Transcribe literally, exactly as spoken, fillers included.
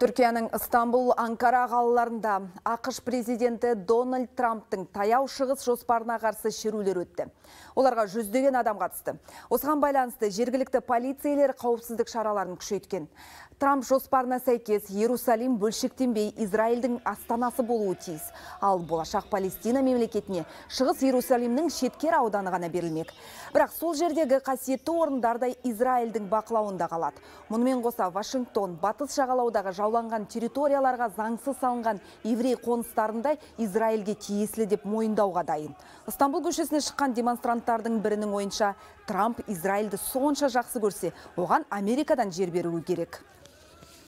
Түркияның Стамбул, Анкара қалаларында ақш президенті Дональд Трамптың таяу шығыс жоспарына қарсы шерулер өтті. Оларға жүздеген адам қатысты. Осыған байланысты жергілікті полицейлер қауіпсіздік шараларын күшейткен. Трамп жоспарына сәйкес Иерусалим бөлшектенбей Израильдің астанасы болуы тиіс. Ал болашақ Палестина мемлекетіне шығыс Иерусалимнің шеткер ауданы ғана берілмек. Бірақ сол жердегі қасиетті орындардай Израильдің бақылауында қалады. Мұнымен қоса Вашингтон батыс жағалаудағы жауланған территорияларға заңсыз салынған еврей қоныстарында Израильге тиесілі деп мойындауға дайын. Стамбул көшесіне шыққан демонстранттардың бірінің ойынша, Трамп Израильді сонша жақсы көрсе, оған Америкадан жер беруі керек.